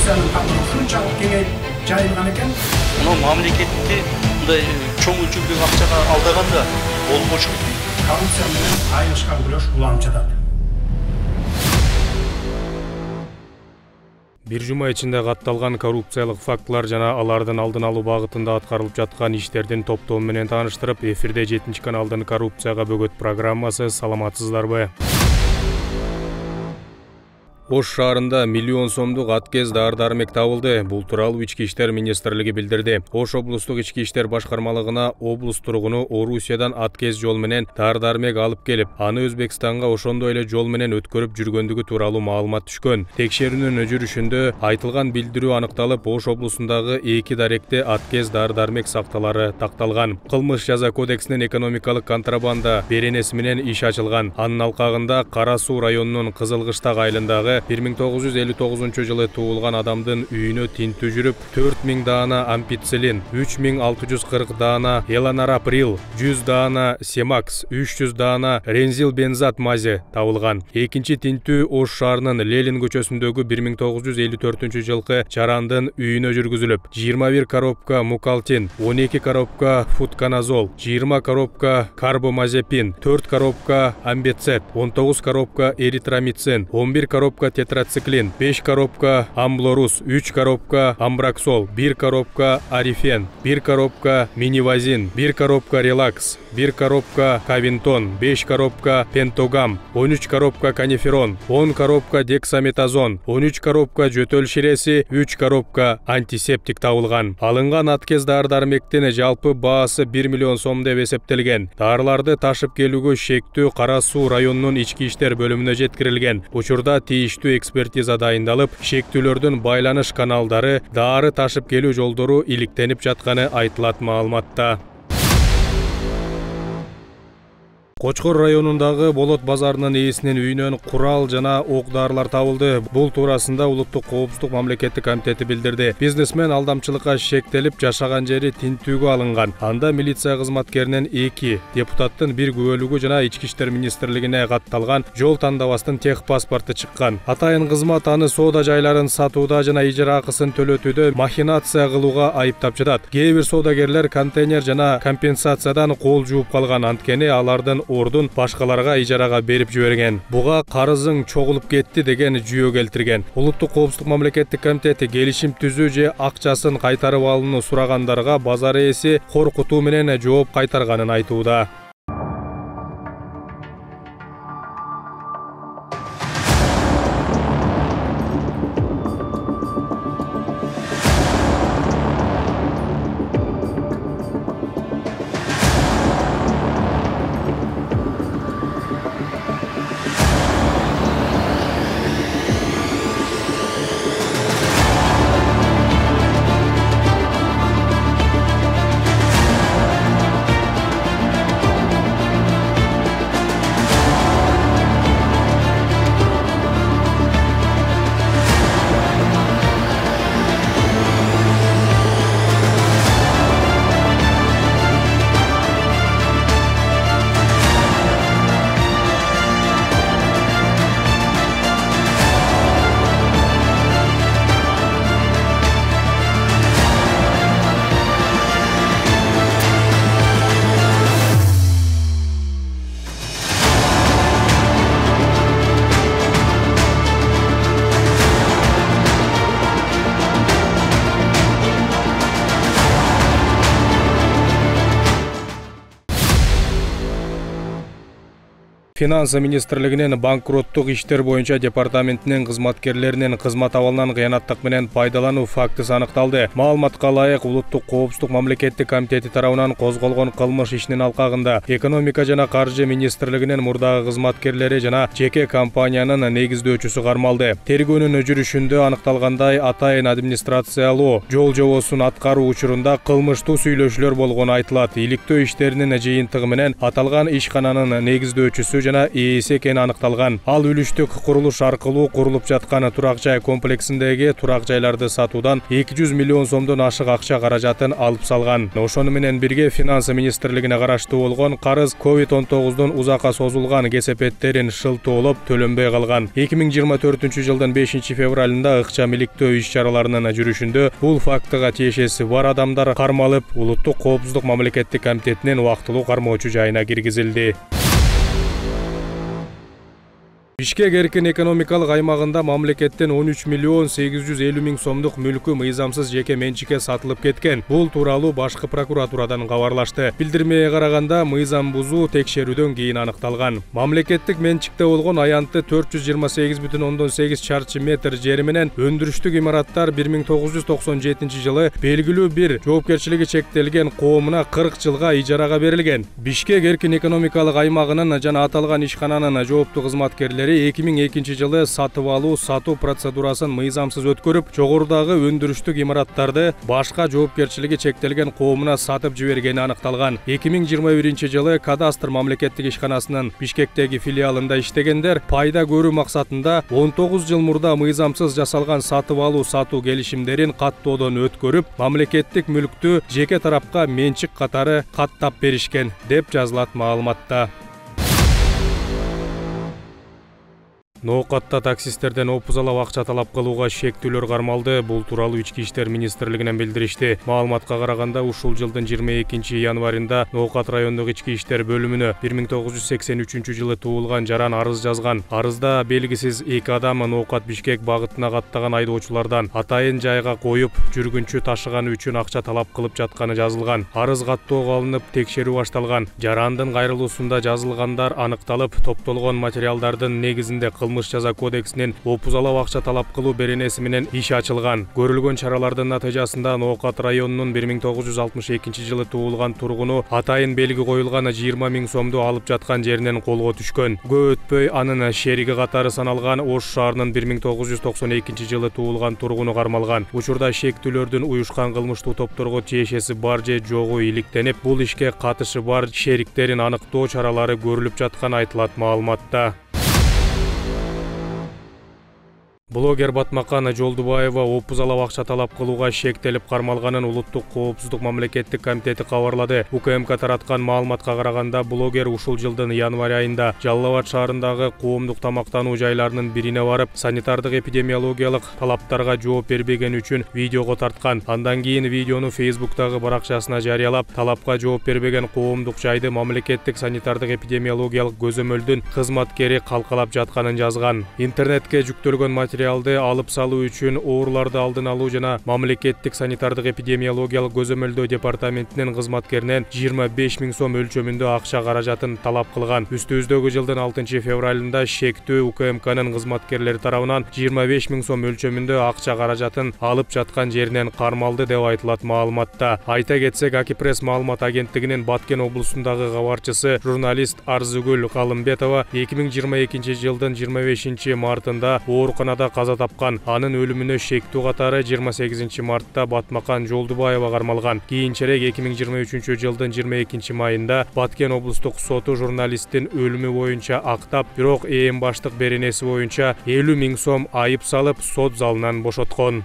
коррупциянын катары ушунчалык кеңейип жайылган экен. Мына мамлекетти мындай чоң өлчөмдөгү акчага алдаганда болбошу. Коррупция менен айылышкан күрөш улам жатат. Бир жума ичинде катталган коррупциялык фактылар жана алардын алдын алуу багытында аткарылып жаткан иштердин топтому менен тааныштырып, эфирде 7 каналдын коррупцияга бөгөт программасы. Саламатсыздарбы? Ош шаарында миллион сомдук аткез дары-дармек табылды. Бул тууралуу Ички иштер министрлиги билдирди. Ош облустук ички иштер башкармалыгына облус тургуну Орусиядан аткез жол менен дары-дармек алып келип, аны Өзбекстанга ошондой эле жол менен өткөрүп жүргөндүгү тууралуу маалымат түшкөн. Текшерүүнүн жүрүшүндө айтылган билдирүү аныкталып, Ош облусундагы 2 даректе аткез дары-дармек сакталары такталган. Кылмыш жаза кодексинин экономикалык контрабанда беренеси менен иш ачылган. Анын алкагында Кара Суу районунун Кызылкыштак айылындагы 1959 жылы туулган адамдын үйүнө тинтүү жүрүп, 4000 даана ампицилин, 3640 даана эланараприл, 100 даана семакс, 300 даана рензил бензат мази табылган. Экинчи тинтүү Ош шаарынын Ленин көчөсүндөгү 1954 жылкы жарандын үйүнө жүргүзүлүп, 21 коробка мукалтин, 12 коробка футканазол, 20 коробка карбомазепин, 4 коробка амбецет, 19 коробка эритромицин, 11 коробка тетрациклин, 5 коробка амблорус, 3 коробка амбраксол, 1 коробка арифен, 1 коробка минивазин, 1 коробка релакс, 1 коробка кавинтон, 5 коробка пентогам, 13 коробка каниферон, 10 коробка дексаметазон, 13 коробка жөтөл ширеси, 3 коробка антисептик табылган. Алынган аткез дары-дармектин жалпы баасы 1 миллион сом деп эсептелген. Дарыларды ташып келүүгө шектүү Кара Суу районунун ички иштер бөлүмүнө жеткирилген. Учурда тийиштүү экспертиза дайындалып, шектүүлөрдүн байланыш каналдары, дары ташып келүү жолдору иликтенип жатканы айтылат маалыматта. Кочкор районундагы Болот базарынын ээсинин үйүнөн курал жана ок-дарылар табылды. Бул туурасында Улуттук коопсуздук мамлекеттик комитети билдирди. Бизнесмен алдамчылыкка шектелип, жашаган жери тинтүүгө алынган. Анда милиция кызматкеринен 2, депутаттын 1 күбөлүгү жана Ички иштер министрлигине катталган жол тандабастын тех паспорту чыккан. Атайын кызмат аны соода жайларын сатууда жана ижара акысын төлөтүүдө махинация кылууга айыптап жатат. Кээ бир соодагерлер контейнер жана компенсациядан кол жууп калган, анткени алардын ордун башкаларга ижарага берип жиберген. Буга карызың чогулуп кетти деген жүйө келтирген. Улуттук коопсуздук мамлекеттик комитети келишим түзүү же акчасын кайтарып алууну сурагандарга базар ээси коркутуу менен жооп кайтарганын айтууда. Финансы министрлигинин банкроттук иштер боюнча департаментинин кызматкерлеринин кызмат абалынан кыянаттык менен пайдалануу фактысы аныкталды. Маалыматка ылайык, Улуттук коопсуздук мамлекеттик комитети тарабынан козголгон кылмыш ишинин алкагында экономика жана каржы министрлигинин мурдагы кызматкерлери жана жеке компаниянын негиздөөчүсү кармалды. Тергөөнүн жүрүшүндө аныкталгандай, атайын администрациялоо жол жобосун аткаруу учурунда кылмыштуу сүйлөшүүлөр болгону айтылат. Иликтөө иштеринин жыйынтыгы менен аталган ишкананын негиздөөчүсү жана жана ээси экени аныкталган. Ал үлүштүк курулуш аркылуу курулуп жаткан турак жай комплексиндеги турак жайларды сатуудан 200 миллион сомдон ашык акча каражатын алып салган. Ошону менен бирге Финанс министрлигине караштуу болгон карыз COVID-19 узакка созулган кесепеттерин шылтоолоп төлөнбөй калган. 2024 5 февралында ыкчам иликтөө иш-чараларынын жүрүшүндө бул фактыга тиешеси бар адамдар кармалып, Улуттук коопсуздук мамлекеттик комитетинин убактылуу кармоочу жайына киргизилди. Бишкек эркин экономикалык аймагында мамлекеттен 13 миллион 850 миң сомдук мүлкү мыйзамсыз жеке менчикке сатылып кеткен. Бул тууралуу башкы прокуратурадан кабарлашты. Билдирмеге караганда мыйзам бузуу текшерүүдөн кийин аныкталган. Мамлекеттик менчикте болгон аянтты 428,8 чарчы метр жери менен өндүрүштүк имараттар 1997 жылы белгилүү бир жоопкерчилиги чектелген коомуна 40 жылга ижарага берилген. Бишкек эркин экономикалык аймагынын жана аталган ишкананын жооптуу кызматкерлери 2002 жылы сатып алуу сатуу процедурасын мыйзамсыз өткөрүп, жогорудагы өндүрүштүк имараттарды башка жоопкерчилиги чектелген коомуна сатып жибергени аныкталган. 2021 жылы кадастр мамлекеттик ишканасынын Бишкектеги филиалында иштегендер пайда көрүү максатында 19 жыл мурда мыйзамсыз жасалган сатып алуу сатуу келишимдерин каттоодон өткөрүп, мамлекеттик мүлктү жеке тарапка менчик катары каттап беришкен деп жазылат маалыматта. Ноокатта таксисттерден опузалап акча талап кылууга шектүүлөр кармалды. Бул тууралуу Ички иштер министрлигинен билдиришти. Маалыматка караганда, ушул жылдын 22 январында Ноокат райондук ички иштер бөлүмүнө 1983 жылы туулган жаран арыз жазган. Арызда белгисиз эки адам Ноокат Бишкек багытына каттаган айдоочулардан атайын жайга коюп, жүргүнчү ташыганы үчүн акча талап кылып жатканы жазылган. Арыз каттоого алынып, текшерүү башталган. Жарандын кайрылуусунда жазылгандар аныкталып, топтолгон материалдардын негизинде Кылмыш жаза кодексинин опузалап акча талап кылуу беренеси менен иш ачылган. Көрүлгөн чаралардын натыйжасында Ноокат районунун 1962 жылы туулган тургуну атайын белги коюлган 20 миң сомду алып жаткан жеринен колго түшкөн. Көп өтпөй анын шериги катары саналган Ош шаарынын 1992 жылы туулган тургуну кармалган. Учурда шектүүлөрдүн уюшкан кылмыштуу топторго тиешеси бар же жогу иликтенип, бул ишке катышы бар шериктерин аныктоо чаралары көрүлүп жатканы айтылат маалыматта. Блогер Батмакан Жолдубаева опузалап акча талап кылууга шектелип кармалганын Улуттук коопсуздук мамлекеттик комитети кабарлады. УКМК тараткан маалыматка караганда, блогер ушул жылдын январь айында Жалал Абад шаарындагы коомдук тамактануу жайларынын бирине барып, санитардык эпидемиологиялык талаптарга жооп бербегени үчүн видеого тарткан. Андан кийин видеону Facebook'тагы баракчасына жарыялап, талапка жооп бербеген коомдук жайды мамлекеттик санитардык эпидемиологиялык көзөмөлдүн кызматкери калкалап жатканын жазган. Интернетке жүктөлгөн материалды алып салуу үчүн ооруларды алдын алуу жана мамлекеттик санитардык эпидемиологиялык көзөмөлдөө департаментинин кызматкеринен 25 миң сом өлчөмүндө акча каражатын талап кылган. Үстүбүздөгү жылдын 6 февралында шектүү УКМКнын кызматкерлери тарабынан 25 миң сом өлчөмүндө акча каражатын алып жаткан жеринен кармалды деп айтылат маалыматта. Айта кетсек, Акипресс маалымат агенттигинин Баткен облусундагы кабарчысы журналист Арзыгүл Калымбетова 2022 жылдын 25 мартында ооруканада каза тапкан. Анын өлүмүнө шектүү катары 28 мартта Батмакан Жолдубаева кармалган. Кийинчерээк 2023 жылдын 22 майында Баткен облустук соту журналисттин өлүмү боюнча актап, бирок ээн баштык беренеси боюнча 50 миң сом айып салып, сот залынан бошоткон.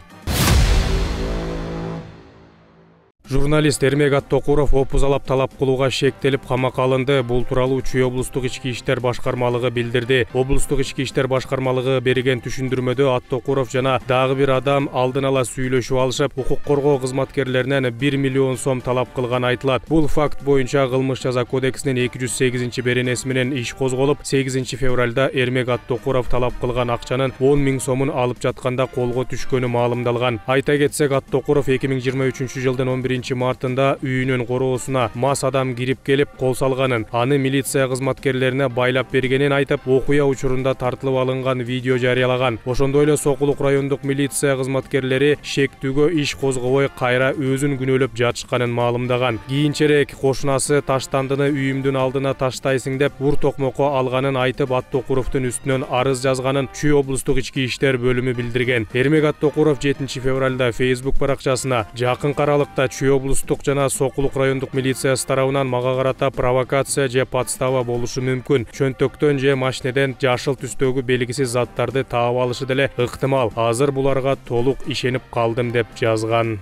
Журналист Эрмек Аттокуров опузалап талап кылууга шектелип камакка алынды. Бул тууралуу Чүй облустук ички иштер башкармалыгы билдирди. Облустук ички иштер башкармалыгы берген түшүндүрмөдө Аттокуров жана дагы бир адам алдын ала сүйлөшүп алышып, укук коргоо кызматкерлеринен 1 миллион сом талап кылганы айтылат. Бул факт боюнча Кылмыш жаза кодексинин 208 беренеси менен иш козголуп, 8 февралда Эрмек Аттокуров талап кылган акчанын 10 миң сомун алып жатканда колго түшкөнү маалымдалган. Айта кетсек, Аттокуров 2023 жылдын 11 мартында үйүнүн короосуна мас адам кирип келип кол салганын, аны милиция кызматкерлерине байлап бергенин айтып, окуя учурунда тартылып алынган видео жарыялаган. Ошондой эле Сокулук райондук милиция кызматкерлери шектүүгө иш козгобой кайра өзүн күнөөлөп жатышканын маалымдаган. Кийинчерээк кошунасы таштандыны үйүмдүн алдына таштайсың деп ур токмокко алганын айтып, Аттокуровдун үстүнөн арыз жазганын Чүй облустук ички иштер бөлүмү билдирген. Эрмек Аттокуров 7 февралда Facebook баракчасына жакын аралыкта Чүй Чүй облустук жана Сокулук райондук милициясы тарабынан мага карата провокация же подстава болушу мүмкүн. Чөнтөктөн же машинеден жашыл түстөгү белгисиз заттарды таап алышы деле ыктымал. Азыр буларга толук ишенип калдым деп жазган.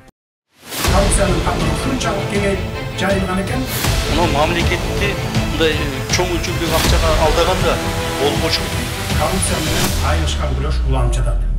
Коррупциянын катары ушунчалык кеңейип жайылган экен. Мына мамлекетти мындай чоң өлчөмдөгү акчага алдаганда болбошу. Коррупция менен айырышкан күрөш улам жатат.